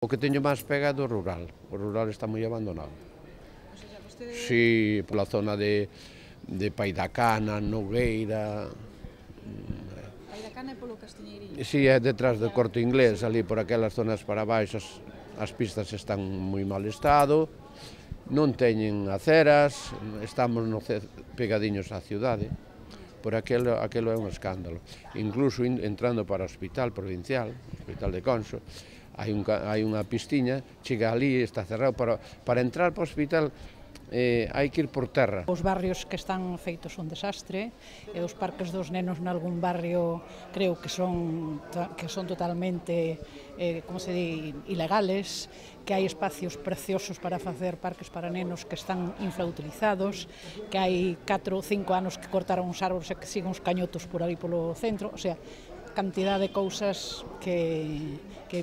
O que teño máis pegado é o rural está moi abandonado. O sea, vostede... Si, pola zona de Paidacana, Nogueira... Paidacana é polo Castiñeiriño? Si, é detrás do Corte Inglés, ali por aquelas zonas para baixo, as pistas están moi mal estado, non teñen aceras, estamos pegadiños á cidade, por aquelo é un escándalo. Incluso entrando para o hospital provincial, o hospital de Conso, hai unha pistiña, chega ali, está cerrado, para entrar para o hospital hai que ir por terra. Os barrios que están feitos un desastre, e os parques dos nenos nalgún barrio creo que son totalmente, como se di, ilegales, que hai espacios preciosos para facer parques para nenos que están infrautilizados, que hai 4 ou 5 anos que cortaron os árbores e que siguen os cañotos por ali polo centro, o sea, cantidad de cousas que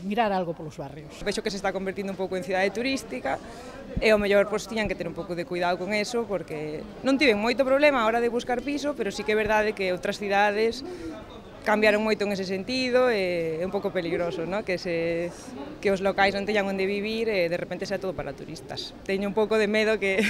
mirar algo polos barrios. Vexo que se está convertindo un pouco en cidade turística e ao mellor tiñan que ter un pouco de cuidado con eso porque non tiven moito problema a hora de buscar piso, pero sí que é verdade que outras cidades cambiaron moito en ese sentido e é un pouco peligroso, ¿no? Que os locais non teñan onde vivir e de repente sea todo para turistas. Teño un pouco de medo que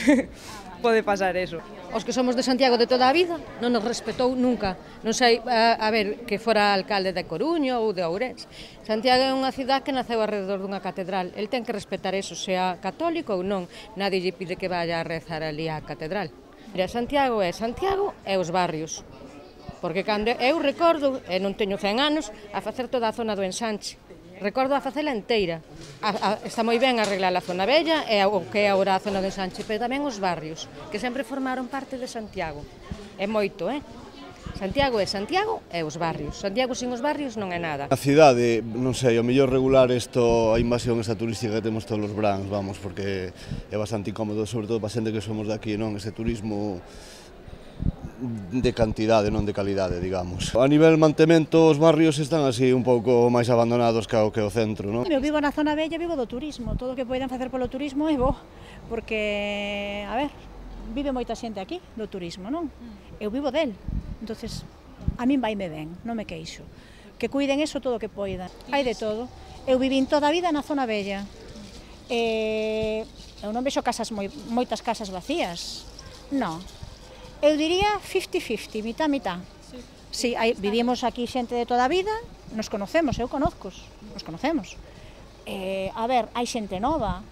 pode pasar eso. Os que somos de Santiago de toda a vida non nos respetou nunca. Non sei, a ver, que fora alcalde de Coruño ou de Ourense. Santiago é unha cidade que naceu alrededor dunha catedral. El ten que respetar eso, sea católico ou non. Nadie lle pide que vaya a rezar ali á catedral. Mira, Santiago e os barrios. Porque cando eu recordo, e non teño 100 anos, a facer toda a zona do ensanche. Recordo a facela inteira. Está moi ben arreglar a zona bella e o que é agora a zona do ensanche, pero tamén os barrios, que sempre formaron parte de Santiago. É moito, Santiago é Santiago e os barrios. Santiago sin os barrios non é nada. A cidade, non sei, o mellor regular a invasión esta turística que temos todos os brans, vamos, porque é bastante incómodo, sobre todo para xente que somos de aquí, non? Ese turismo de cantidade, non de calidade, digamos. A nivel mantemento, os barrios están así un pouco máis abandonados que o centro, non? Eu vivo na zona bella, vivo do turismo, todo o que poidan facer polo turismo é bo, porque, a ver, vive moita xente aquí do turismo, non? Eu vivo del, entonces a min vaime ben, non me queixo. Que cuiden eso todo o que poidan, hai de todo. Eu vivín toda a vida na zona bella, eu non vexo moitas casas vacías, non. Eu diría 50-50, mitad. Sí, vivimos aquí xente de toda a vida, nos conocemos, eu conozcos, nos conocemos. A ver, hai xente nova,